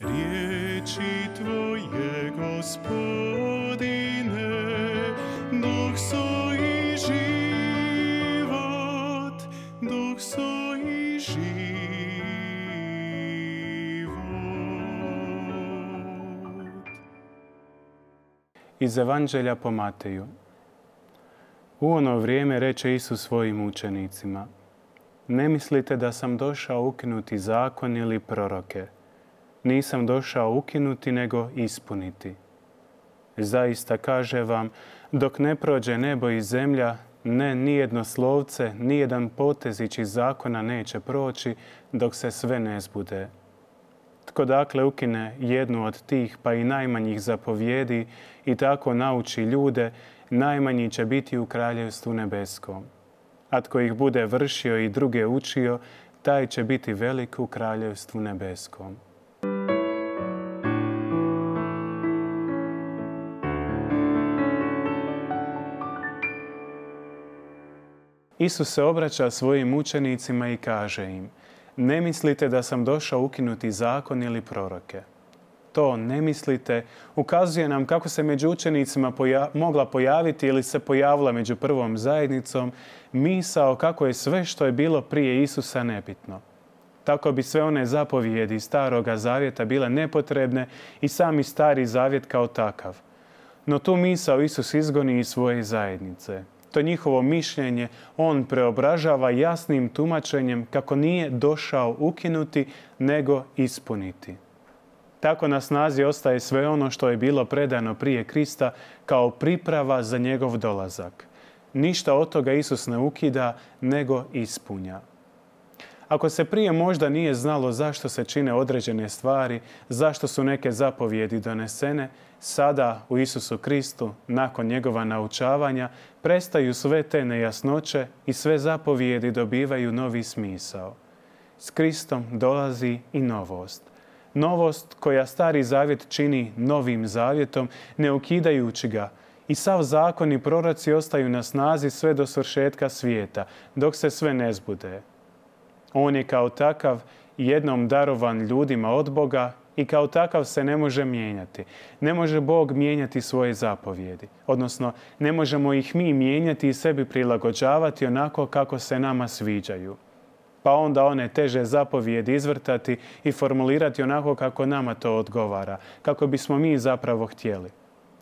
Riječi Tvoje, Gospodine, duh su i život, duh su i život. Iz Evanđelja po Mateju. U ono vrijeme reče Isus svojim učenicima: Ne mislite da sam došao ukinuti zakon ili proroke. Nisam došao ukinuti, nego ispuniti. Zaista kažem vam, dok ne prođe nebo i zemlja, nijedno slovce, nijedan potezić iz zakona neće proći, dok se sve ne zbude. Tko dakle ukine jednu od tih, pa i najmanjih zapovjedi, i tako nauči ljude, najmanji će biti u Kraljevstvu nebeskom. A tko ih bude vršio i druge učio, taj će biti velik u Kraljevstvu nebeskom. Isus se obraća svojim učenicima i kaže im: Ne mislite da sam došao ukinuti zakon ili proroke. To ne mislite ukazuje nam kako se među učenicima mogla pojaviti ili se pojavila među prvom zajednicom misao kako je sve što je bilo prije Isusa nebitno. Tako bi sve one zapovjedi Staroga zavjeta bile nepotrebne i sami Stari zavjet kao takav. No tu misao Isus izgoni iz svoje zajednice. To njihovo mišljenje on preobražava jasnim tumačenjem kako nije došao ukinuti, nego ispuniti. Tako na snazi ostaje sve ono što je bilo predano prije Krista kao priprava za njegov dolazak. Ništa od toga Isus ne ukida, nego ispunja. Ako se prije možda nije znalo zašto se čine određene stvari, zašto su neke zapovjedi donesene, sada u Isusu Kristu, nakon njegova naučavanja, prestaju sve te nejasnoće i sve zapovjedi dobivaju novi smisao. S Kristom dolazi i novost. Novost koja Stari zavjet čini novim zavjetom, ne ukidajući ga, i sav zakon i proroci ostaju na snazi sve do svršetka svijeta, dok se sve ne zbude. On je kao takav jednom darovan ljudima od Boga i kao takav se ne može mijenjati. Ne može Bog mijenjati svoje zapovjedi, odnosno ne možemo ih mi mijenjati i sebi prilagođavati onako kako se nama sviđaju. Pa onda one teže zapovjedi izvrtati i formulirati onako kako nama to odgovara, kako bismo mi zapravo htjeli.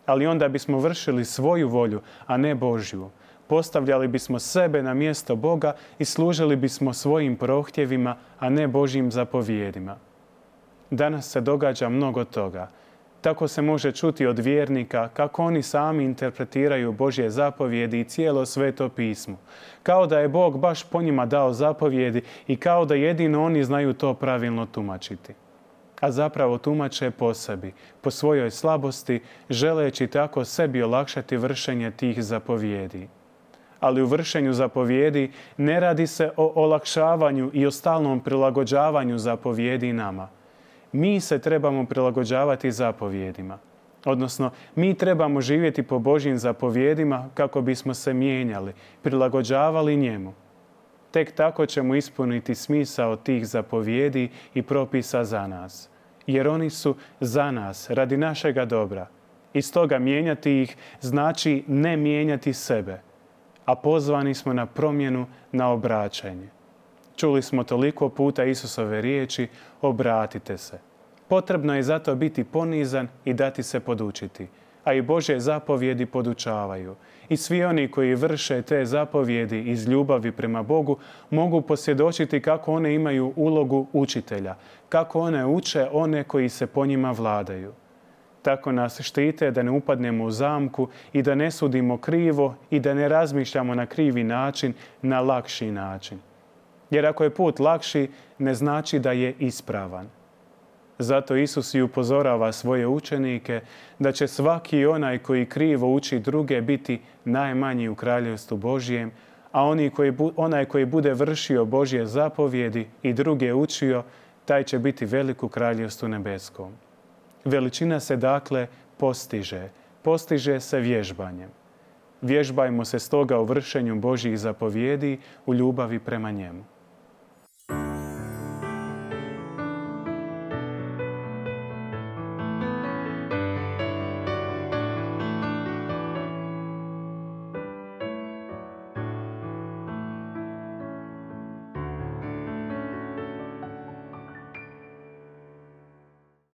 Ali onda bismo vršili svoju volju, a ne Božju. Postavljali bismo sebe na mjesto Boga i služili bismo svojim prohtjevima, a ne Božjim zapovjedima. Danas se događa mnogo toga. Tako se može čuti od vjernika kako oni sami interpretiraju Božje zapovjedi i cijelo Sveto pismo. Kao da je Bog baš po njima dao zapovjedi i kao da jedino oni znaju to pravilno tumačiti. A zapravo tumače po sebi, po svojoj slabosti, želeći tako sebi olakšati vršenje tih zapovjedi. Ali u vršenju zapovjedi ne radi se o olakšavanju i o stalnom prilagođavanju zapovjedi nama. Mi se trebamo prilagođavati zapovjedima. Odnosno, mi trebamo živjeti po Božjim zapovjedima kako bismo se mijenjali, prilagođavali njemu. Tek tako ćemo ispuniti smisao tih zapovjedi i propisa za nas. Jer oni su za nas, radi našega dobra. I stoga mijenjati ih znači ne mijenjati sebe. A pozvani smo na promjenu, na obraćanje. Čuli smo toliko puta Isusove riječi: obratite se. Potrebno je zato biti ponizan i dati se podučiti. A i Božje zapovjedi podučavaju. I svi oni koji vrše te zapovjedi iz ljubavi prema Bogu mogu posvjedočiti kako one imaju ulogu učitelja, kako one uče one koji se po njima vladaju. Tako nas štite da ne upadnemo u zamku i da ne sudimo krivo i da ne razmišljamo na krivi način, na lakši način. Jer ako je put lakši, ne znači da je ispravan. Zato Isus i upozorava svoje učenike da će svaki onaj koji krivo uči druge biti najmanji u Kraljevstvu Božjem, a onaj koji bude vršio Božje zapovjedi i druge učio, taj će biti velik u Kraljevstvu nebeskom. Veličina se dakle postiže se vježbanjem. Vježbajmo se stoga u vršenju Božjih zapovjedi u ljubavi prema njemu.